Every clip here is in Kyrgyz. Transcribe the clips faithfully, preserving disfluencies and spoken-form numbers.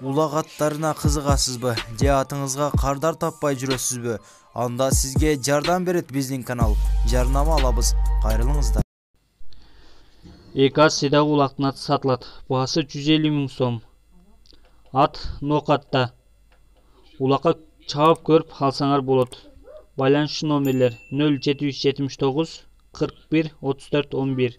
Улак аттарына кызыгасызбы же атыңызга кардар таппай жүрөсүзбү? Анда сизге жардам берет биздин канал. Жарнама алабыз. Кайрылыңыздар. эки ат сыйдагы улактын аты сатылат. Баасы жүз элүү миң сом. Ат нокатта. Улакка чабып көрүп алсаңар болот. Байланыш номерлер нөл жети жүз жетимиш тогуз кырк бир отуз төрт он бир.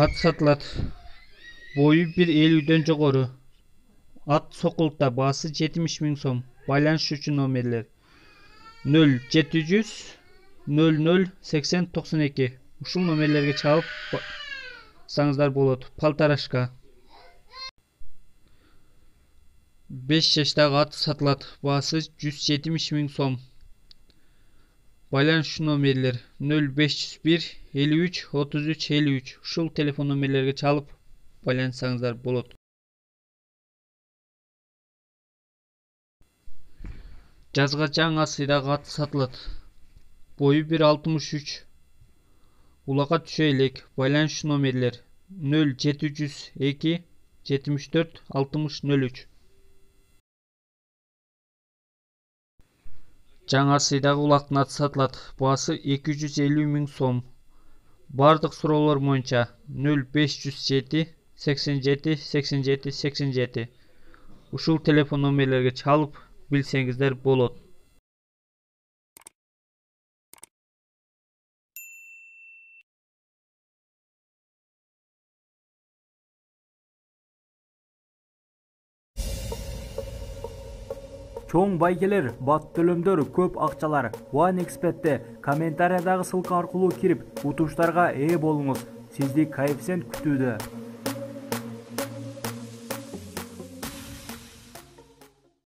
Ат сатылат. Бою бир элүүдөн жогору. Ат сокулукта. Баасы жетимиш миң сом. Байланыш үчүн номерлер нөл жети жүз нөл нөл сексен токсон эки. Ушул номерлерге чалып саңыздар болот. Полторашка. беш жаштагы ат сатылат. Баасы жүз жетимиш миң сом. Байланыш номерлер нөл беш жүз бир элүү үч отуз үч элүү үч. Ушул телефон номерлерге чалып байланышсаңыздар болот. Жазга жаңы сыйдагы ат сатылат. Бою бир алтымыш үч. Улакка түшө элек. Байланыш номерлер нөл жети жүз эки жетимиш төрт алтымыш нөл үч. Жаңа сыйдагы улактын аты сатылат. Баасы эки жүз элүү миң сом. Бардык суроолор боюнча нөл беш жүз жети сексен жети сексен жети сексен жети. Ушул телефон номерлерге чалып билсеңиздер болот. Чоң байгелер, бат төлөмдөр, көп акчалар OneXBet'те комментариядагы ссылка аркылуу кирип, утуштарга ээ болуңуз. Сизди коэффициент күтүүдө.